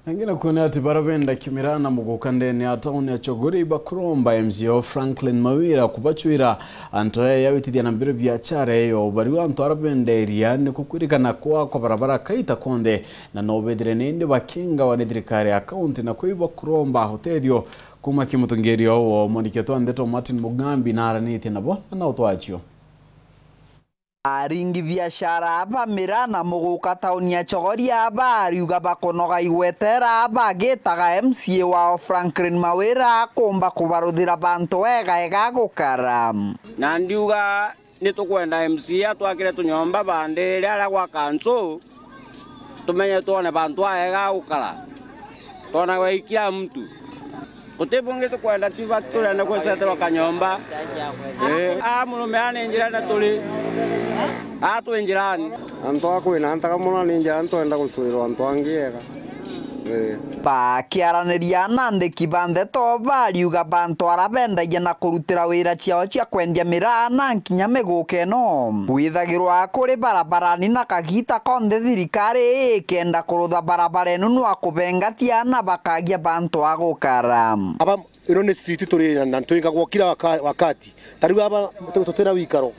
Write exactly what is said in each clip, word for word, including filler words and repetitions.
Nangi na kuona ati bara benda kimira na muguka ndene ya tauni ya Chogoria ibakuromba M C A o Franklin Mawira kubacwira antu aya yawitithia na mbere biachara eyo. Bariu antu ara benderia ni kukwirikana kwa kwa barabara kaita konthe, na no bethire nindi bakingawa ni thirikari ya kaunti, na kwi bakuromba utethio kuma ki mutongeria o wo. Mwandiki wetu wa ndeto Martin Mugambi na aranitie nabo na no twacio. Aringi biashara ba miraa na muguka tauni ya Chogoria bariuga bakunoga igwetera bagitaga M C A wao Franklin Mawira kumba kubaruthira bantu wega ega gukara. Na ndiuga ni tukwenda M C A atwakire tunyomba bandi ria aria gwa kansu, tumenye twone bantu aega gukara, twonagwe i kila mtu. Guti bungi tukwenda, tiba turenda kweseterwa kanyomba. Eh, a murume a ni njirene turi, a twi njirani. Antu a kwina ntaga mono ni njira ntwenda gucwirwa antu angi ega. Eh. Bakiaraniria na andiki ba ndeto bariuga bantu ara bendagia na kurutira wira ciao cia kwendia miraa na nkinya miguka ino kwithagirwa kuri barabarani na kagita konthe thirikari ikenda kurutha barabara ino nwa kubengatia na bakagia bantu a gukara. Aba, ino ni street turi na, na twingagwo kila waka-, wakati. Ta riu aba tu-, tutina wikaro.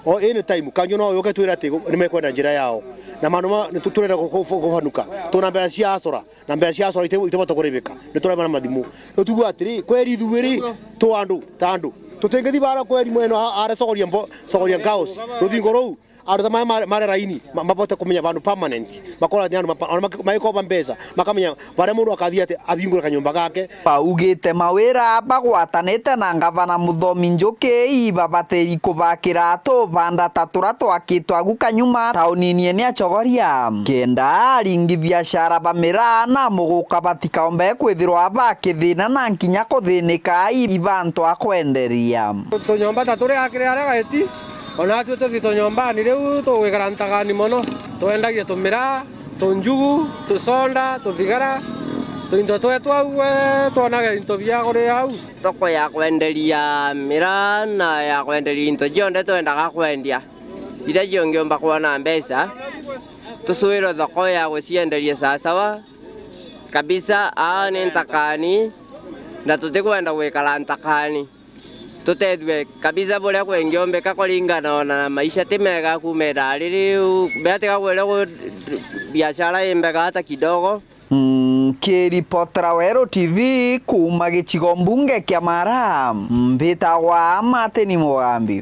O any time, kanyo no yuke twira ati ni mekwenda njira yao. Na mandu ma, ni tu-, turenda ku-, ku-, kubanuka. Tuna mbeca cia asora, na mbeca cia asora ite-, itibota kuribika. Ni turema na mathimu. Riu tuuga atiri, kweri ithui ri, tu andu, ta andu. Tutingithi bara kweri mweno a-, ara Chogoria mbo-, Chogoria Girls. Ruthingo ruu, andu ta maya mare, mare raini, ma-, mabote kumenya bandu permanent. Makora ni andu mapa-, ona maki-, magikoba mbeca, makamenya baria mundu akathii ati abingure kanyomba gake. Baugite Mawira bagwatanite na ngavana Muthomi Njuki ibabatiri kubakira tubanda ta tura twakitwe agu kanyuma taunini ene ya Chogoria, kenda aringi biashara ba miraa na muguka batikaombe kwithirwa bakithina na nkinya kuthinika i-, ibantu a kwenderia. Tunyomba ta turi akiri aria gaiti, ona atwi tuthi tunyombani riu tugwikara ntagani mono. Twendagia tumiraa, tunjugu, tuconda, tuthigara, tuinto twetu au, we, twonage into bia kuria au. Thoko ya kwenderia miraa na ya kwenderia into cionthe twendaga kwendia, iria ciongiumba kwona mbeca, tucwirwe thoko ya gucienderia sawasawa kabisa. Aa ni ntakani, na tutikwenda gwikara ntakani. Tutethue kabisa buria kwengiombika kuringana ona na maisha ti mega kuuma ithaa riri, u-, beatiga kwira ku-, biashara i mbega hata kidogo. Nkiripotera Weru T V kuuma gicigo mbunge kia Mara, mbitagwa Martin Mugambi.